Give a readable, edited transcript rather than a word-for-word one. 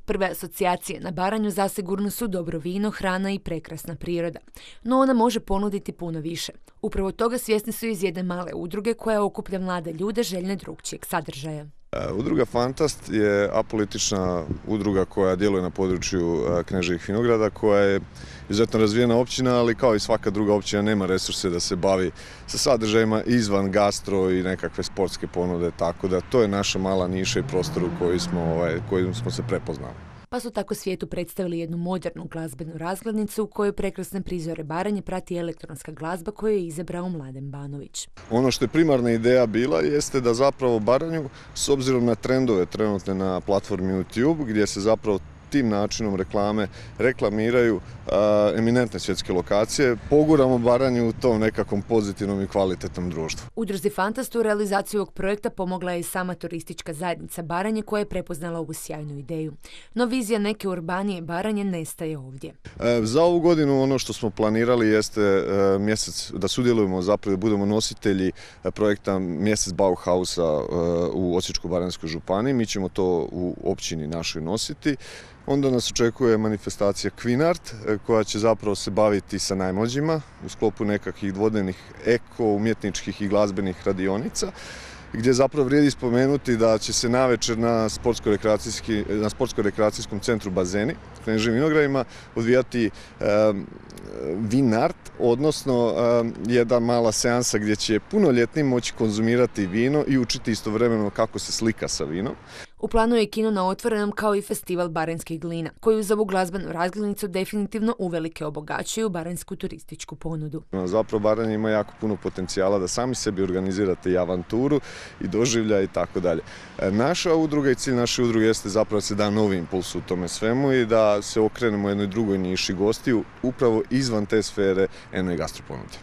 Prve asocijacije na Baranju zasigurno su dobro vino, hrana i prekrasna priroda. No ona može ponuditi puno više. Upravo toga svjesni su iz jedne male udruge koja okuplja mlade ljude željne drugčijeg sadržaja. Udruga Fantast je apolitična udruga koja djeluje na području Kneževih Vinograda, koja je izuzetno razvijena općina, ali kao i svaka druga općina nema resurse da se bavi sa sadržajima izvan gastro i nekakve sportske ponude, tako da to je naša mala niša i prostor u kojim smo se prepoznali. Pa su tako svijetu predstavili jednu modernu glazbenu razglednicu u kojoj prekrasne prizore Baranje prati elektronska glazba koju je izabrao Mladen Banović. Ono što je primarna ideja bila jeste da zapravo Baranju, s obzirom na trendove trenutne na platformi YouTube, gdje se zapravo tim načinom reklame reklamiraju eminentne svjetske lokacije, poguramo Baranju u tom nekakvom pozitivnom i kvalitetnom društvu. Udruzi Fantast u realizaciju ovog projekta pomogla je i sama turistička zajednica Baranje koja je prepoznala ovu sjajnu ideju. No vizija neke urbanije Baranje nestaje ovdje. Za ovu godinu ono što smo planirali jeste da sudjelujemo, zapravo da budemo nositelji projekta Mjesec Bauhausa u Osječko-baranjskoj županiji. Mi ćemo to u općini našoj nositi. Onda nas očekuje manifestacija Queen Art koja će zapravo se baviti sa najmlađima u sklopu nekakvih dvodnevnih umjetničkih i glazbenih radionica, gdje zapravo vrijedi spomenuti da će se navečer na sportsko-rekreacijskom centru Bazeni u Kneževim Vinogradima odvijati Win Art, odnosno jedna mala seansa gdje će punoljetni moći konzumirati vino i učiti istovremeno kako se slika sa vinom. U planu je kino na otvorenom kao i festival baranjskih glina, koji uz ovu glazbenu razglednicu definitivno uvelike obogaćuju baranjsku turističku ponudu. Zapravo Baranja ima jako puno potencijala da sami sebi organizirate i avanturu i doživlja i tako dalje. Naša udruga i cilj naše udruge jeste zapravo da se da novi impuls u tome svemu i da se okrenemo jednoj drugoj niši gostiju upravo izvan te sfere eno i gastroponude.